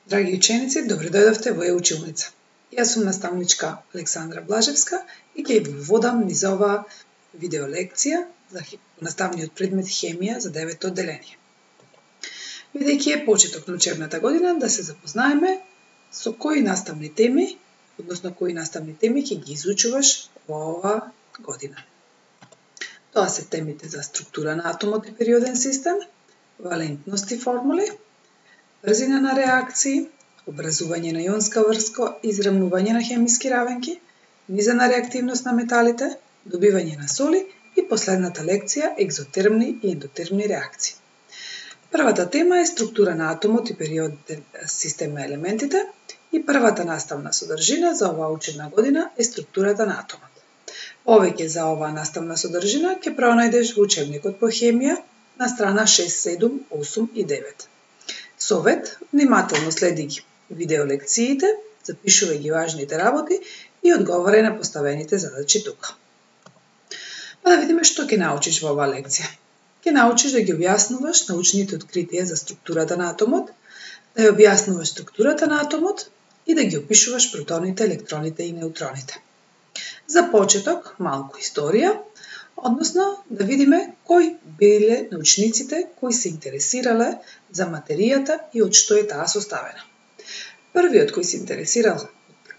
Драги ученици, добро дојдовте во Е-училница. Јас сум наставничка Александра Блажевска и ќе ви водам низ оваа видеолекција за наставниот предмет хемија за 9-то одделение. Бидејќи е почеток на учебната година, да се запознаеме со кои наставни теми, односно кои наставни теми ќе ги изучуваш во оваа година. Тоа се темите за структура на атомот и периоден систем, валентност и формули, брзина на реакции, образување на јонска врска, израмнување на хемиски равенки, низена реактивност на металите, добивање на соли и последната лекција екзотермни и ендотермни реакции. Првата тема е структура на атомот и периоден систем на елементите и првата наставна содржина за оваа учебна година е структурата на атомот. Повеќе за оваа наставна содржина ќе пронајдеш во учебникот по хемија на страна 6, 7, 8 и 9. Совет, внимателно следи ги видеолекциите, запишувај ги важните работи и одговарај на поставените задачи тука. Па да видиме што ќе научиш во оваа лекција. Ќе научиш да ги објаснуваш научните откритија за структурата на атомот, да ја објаснуваш структурата на атомот и да ги опишуваш протоните, електроните и неутроните. За почеток, малку историја, односно да видиме кои биле научниците кои се интересирале за материјата и од што е таа составена. Првиот кој се интересирал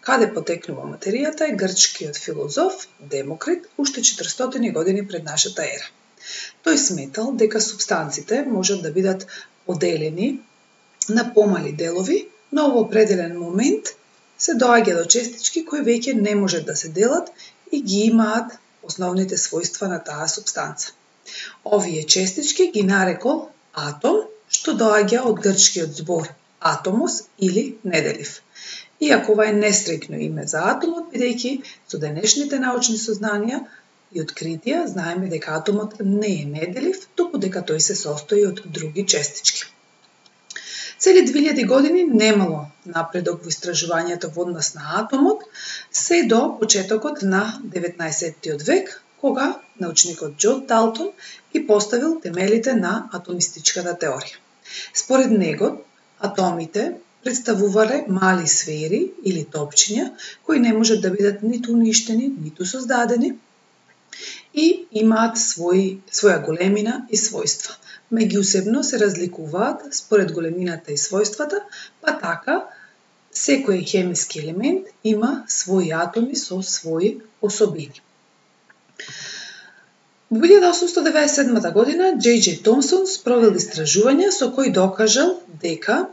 каде потекнува материјата е грчкиот филозоф Демокрит уште 400 години пред нашата ера. Тој сметал дека супстанците можат да бидат поделени на помали делови, но во определен момент се доаѓа до честички кои веќе не можат да се делат и ги имаат основните својства на таа супстанца. Овие честички ги нарекол атом, што доаѓа од грчкиот збор атомос или неделив. Иако ова е несреќно име за атомот, бидејќи со денешните научни сознанија и откритија знаеме дека атомот не е неделив, туку дека тој се состои од други честички. Цели 2000 години немало напредок во истражувањето во однос на атомот, се до почетокот на 19. век, кога научникот Џон Далтон ги поставил темелите на атомистичката теорија. Според него, атомите представувале мали сфери или топчиња кои не можат да бидат ниту уништени, ниту создадени и имаат своја големина и својства. Меѓусебно се разликуваат според големината и својствата, па така секој хемиски елемент има своји атоми со своји особини. Во 1897 година Џ.Џ. Томсон спровел истражувања со кои докажал дека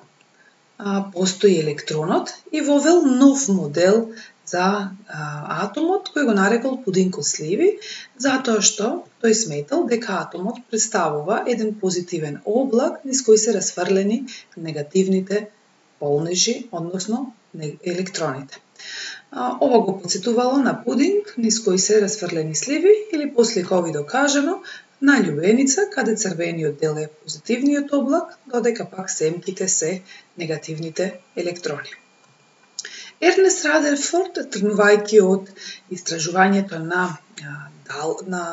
постои електронот и вовел нов модел за атомот кој го нарекол пудинг од сливи, затоа што тој сметал дека атомот представува еден позитивен облак низ кој се расфрлени негативните полнежи, односно електроните. Ова го потсетувало на пудинг низ кој се расфрлени сливи или посликови докажано на љубеница каде црвениот дел е позитивниот облак, додека пак семките се негативните електрони. Ернест Радерфорд, тргнувајќи од истражувањето на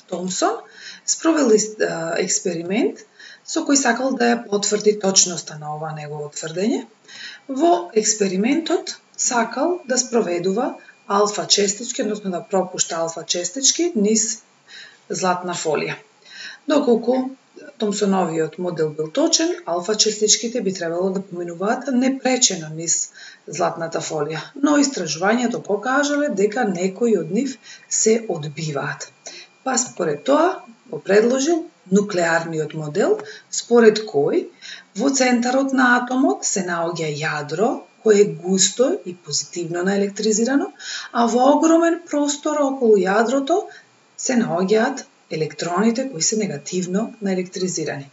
Томсон, спровел експеримент со кој сакал да ја потврди точноста на ова негово тврдење. Во експериментот сакал да спроведува алфа честички, односно да пропушта алфа честички низ златна фолија. Доколку Томсоновиот модел бил точен, алфа честичките би требало да поминуваат непречено низ златната фолија, но истражувањето покажале дека некои од нив се одбиваат. Па според тоа го предложил нуклеарниот модел, според кој во центарот на атомот се наоѓа јадро кое е густо и позитивно наелектризирано, а во огромен простор околу јадрото се наоѓаат електроните кои се негативно наелектризирани.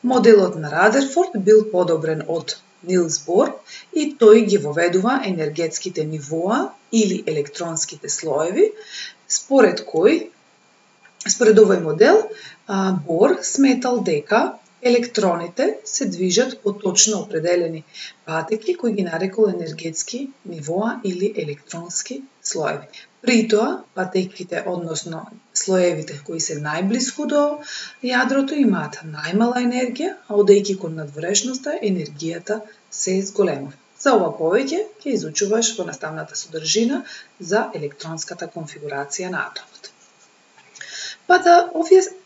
Моделот на Радерфорд бил подобрен од Нилс Бор и тој ги воведува енергетските нивоа или електронските слоеви, според овој модел Бор сметал дека Електроните се движат по точно определени патеки кои ги нарекол енергетски нивоа или електронски слоеви. При тоа, патеките, односно слоевите кои се најблиску до јадрото, имаат најмала енергија, а одејќи кон надворешноста, енергијата се зголемува. За ова повеќе ќе изучуваш во наставната содржина за електронската конфигурација на атомот. Па да,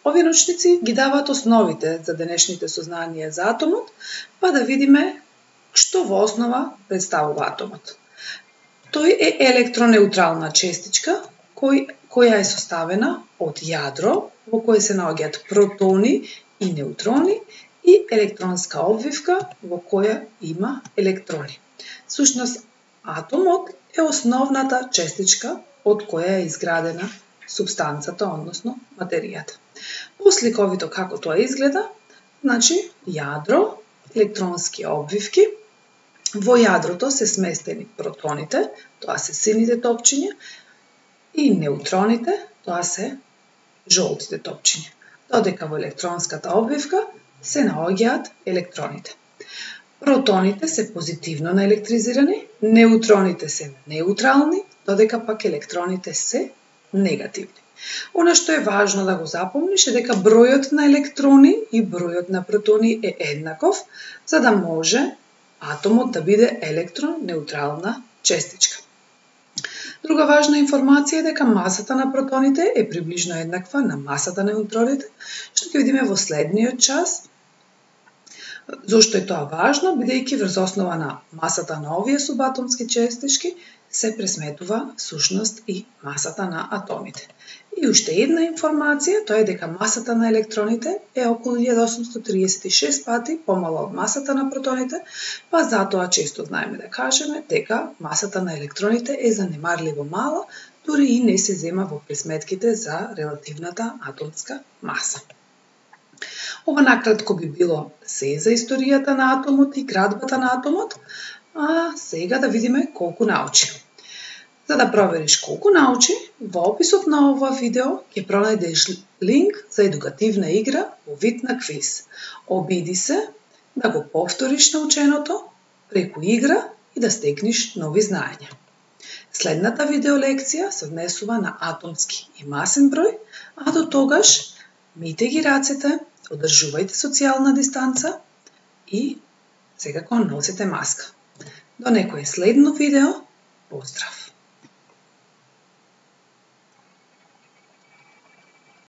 овие научници ги даваат основите за денешните сознанија за атомот, па да видиме што во основа представува атомот. Тој е електронеутрална честичка која е составена од јадро во кое се наоѓаат протони и неутрони и електронска обвивка во која има електрони. Сушност, атомот е основната честичка од која е изградена супстанцата, односно материјата. Посликовито како тоа изгледа, значи јадро, електронски обвивки, во јадрото се сместени протоните, тоа се сините топчиња, и неутроните, тоа се жолтите топчиња. Додека во електронската обвивка се наоѓаат електроните. Протоните се позитивно наелектризирани, неутроните се неутрални, додека пак електроните се негативни. Она што е важно да го запомниш е дека бројот на електрони и бројот на протони е еднаков, за да може атомот да биде електронеутрална честичка. Друга важна информација е дека масата на протоните е приближно еднаква на масата на неутроните, што ќе видиме во следниот час. Зошто е тоа важно? Бидејќи врз основа на масата на овие субатомски честички се пресметува всушност и масата на атомите. И уште една информација, тоа е дека масата на електроните е околу 1836 пати помала од масата на протоните, па затоа често знаеме да кажеме дека масата на електроните е занемарливо мала, дури и не се зема во пресметките за релативната атомска маса. Ова накратко би било се за историјата на атомот и градбата на атомот, а сега да видиме колку научи. За да провериш колку научи, во описот на ова видео ќе пронајдеш линк за едукативна игра во вид на квиз. Обиди се да го повториш наученото преку игра и да стекнеш нови знаења. Следната видеолекција се однесува на атомски и масен број, а до тогаш мите ги рацете, одржувајте социјална дистанца и секако носете маска. До некое следно видео, поздрав!